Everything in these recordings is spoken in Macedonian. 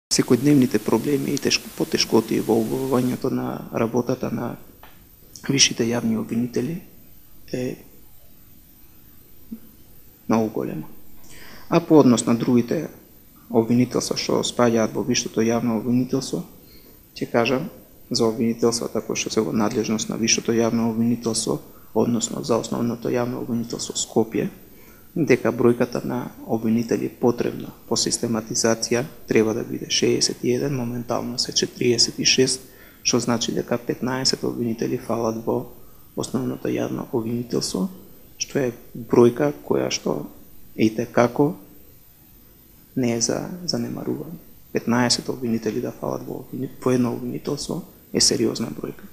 Секојдневните проблеми и потешкоти во обавувањето на работата на висшите јавни обвинители е многу голема. А по однос на другите обвинителства што спаѓаат во висшето јавно обвинителство, ќе кажам за обвинителствата кои што се во надлежност на висшето јавно обвинителство, односно за основното јавно обвинителство Скопје, дека бројката на обвинители потребна по систематизација треба да биде 61, моментално се 46, што значи дека 15 обвинители фалат во основното јавно обвинителство, што е бројка која што и текако не е за занемарување. 15 обвинители да фалат во едно обвинителство е сериозна бројка.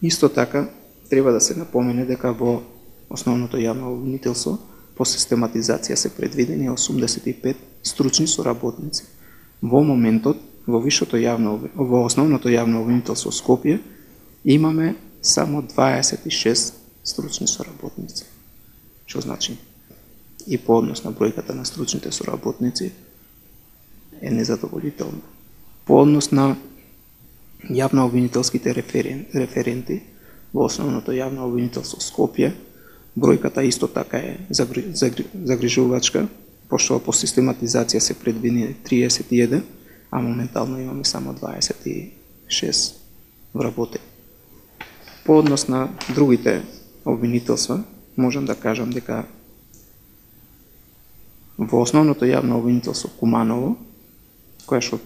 Исто така, треба да се напомене дека во основното јавно обвинителство по систематизација се предвидени 85 стручни соработници. Во моментот, во основното јавно обвинителство Скопје, имаме само 26 стручни соработници. Што значи? И по однос на бројката на стручните соработници е незадоволително. По однос на јавно обвинителските референти во основното јавно обвинителство Скопје, бројката исто така е загрижувачка, пошто по систематизација се предвидени 31, а моментално имаме само 26 вработени. По однос на другите обвинителства, можам да кажам дека во основното јавно обвинителство Куманово, која што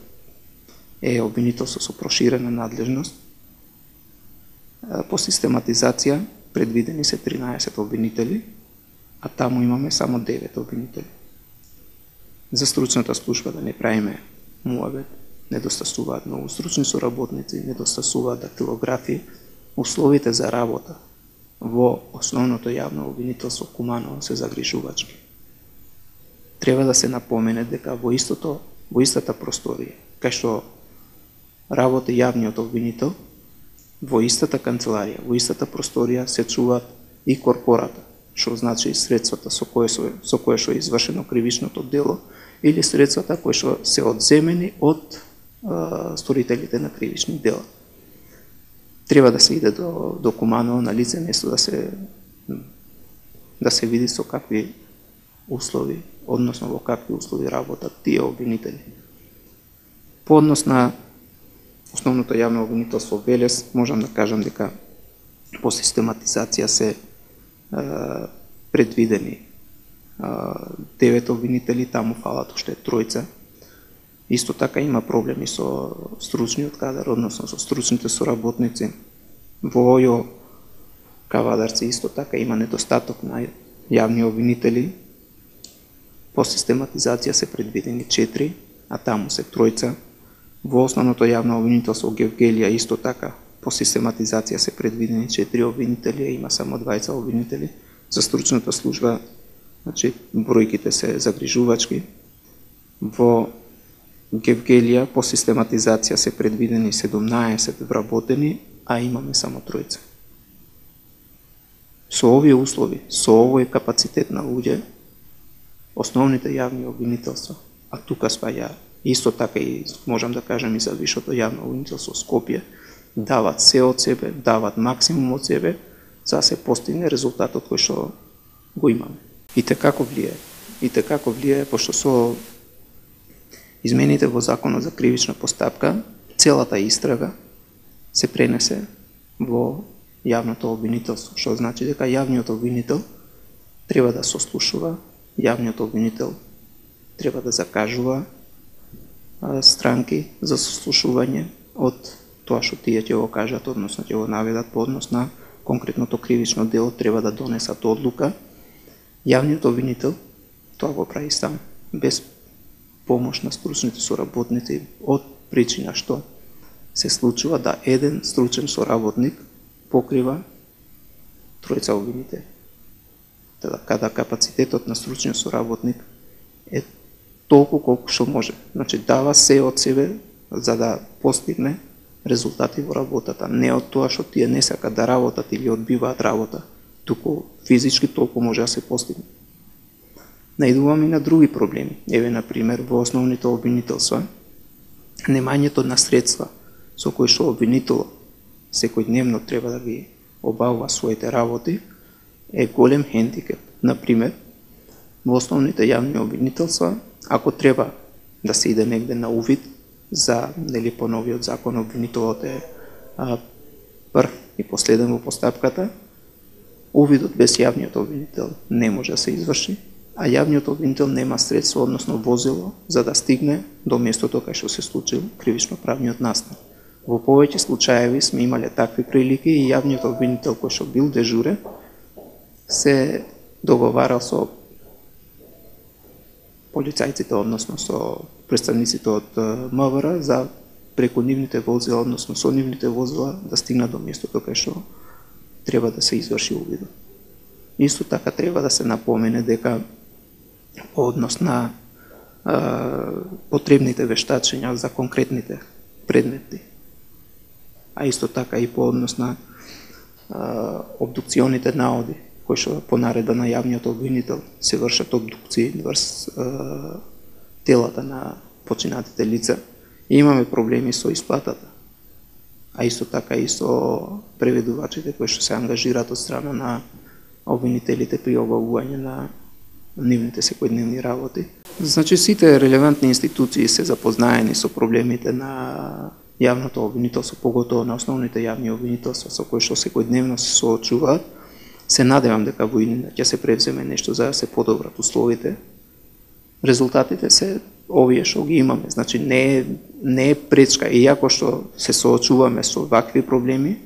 е обвинителство со проширена надлежност, по систематизација предвидени се 13 обвинители, а таму имаме само 9 обвинители. За стручната служба да не правиме муабет, недостасуваат многу стручни соработници, недостасуваат дактилографи, условите за работа во основното јавно обвинителство Куманово се загрижувачки. Треба да се напомене дека во истата просторија, кај што работи јавниот обвинител, во истата канцеларија, во истата просторија се чуваат и корпората, што значи средствата со кое што е извршено кривичното дело или средствата кои што се одземени од сторителите на кривични дела. Треба да се иде до Куманово на лице место да се види со какви услови, односно во какви услови работат тие обвинители. По однос на основното јавно обвинителство Велес, можам да кажам дека по систематизација се предвидени 9 обвинители, таму фалат уште тројца. Исто така има проблеми со стручниот кадар, односно со стручните соработници. Во ОЈО Кавадарци исто така има недостаток на јавни обвинители. По систематизација се предвидени 4, а таму се тројца. Во основното јавно обвинителство Гевгелија исто така по систематизација се предвидени 4 обвинители, има само 20 обвинители. За стручната служба, значи бројките се загрижувачки. Во Гевгелија по систематизација се предвидени 17 вработени, а имаме само тројца. Со овие услови, со овој капацитет на луѓе, основните јавни обвинителства, а тука спаѓа исто така и можам да кажам и за висшето јавно обвинителство Скопје, дават се од себе, дават максимум од себе, за да се постигне резултатот кој што го имаме. И како влијае, пошто со измените во Законот за кривична постапка, целата истрага се пренесе во јавното обвинителство, што значи дека јавниот обвинител треба да сослушува, јавниот обвинител треба да закажува странки за сослушување од тоа што тие ќе го кажат, односно ќе го наведат по однос на конкретното кривично дело, треба да донесат одлука. Јавниот обвинител тоа го прави сам, без помош на стручните соработници, од причина што се случува да еден стручен соработник покрива тројца обвинители. Када капацитетот на стручниот соработник е толку колку што може. Значи дава се од себе за да постигне резултати во работата, не од тоа што тие не сакат да работат или одбиваат работа, туку физички толку може да се постигне. Наидуваме и на други проблеми. Еве, например, во основните обвинителства немањето на средства со кои што обвинителот секојдневно треба да ги обавува своите работи е голем хендикеп. Например, во основните јавни обвинителства, ако треба да се иде негде на увид за по новиот закон, обвинителот е прв и последен во постапката, увидот без јавниот обвинител не може да се изврши, а јавниот обвинител нема средство, односно возило, за да стигне до местото кај што се случил кривично-правниот настан. Во повеќе случаеви сме имале такви прилики и јавниот обвинител кој што бил дежурен се договарал со полицајците, односно со представниците од МВР за преку нивните возила, односно со нивните возила да стигнат до местото кај што треба да се изврши увидот. Исто така треба да се напомене дека по однос на потребните вештачења за конкретните предмети, а исто така и по однос на обдукционите наоди, кои што по наредба на јавниот обвинител се вршат обдукции врз телата на починатите лица, и имаме проблеми со исплатата, а исто така и со преведувачите кои што се ангажираат од страна на обвинителите при обавување на нивните секојдневни работи. Значи, сите релевантни институции се запознаени со проблемите на јавното обвинителство, поготово на основните јавни обвинителства со кои што секојдневно се соочуваат. Се надевам дека во иднина ќе се превземе нешто за да се подобрат условите. Резултатите се овие што ги имаме, значи не е пречка, иако што се соочуваме со вакви проблеми,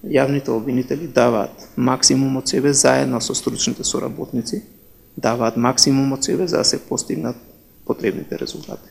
јавните обвинители даваат максимум од себе заедно со стручните соработници, даваат максимум од себе за да се постигнат потребните резултати.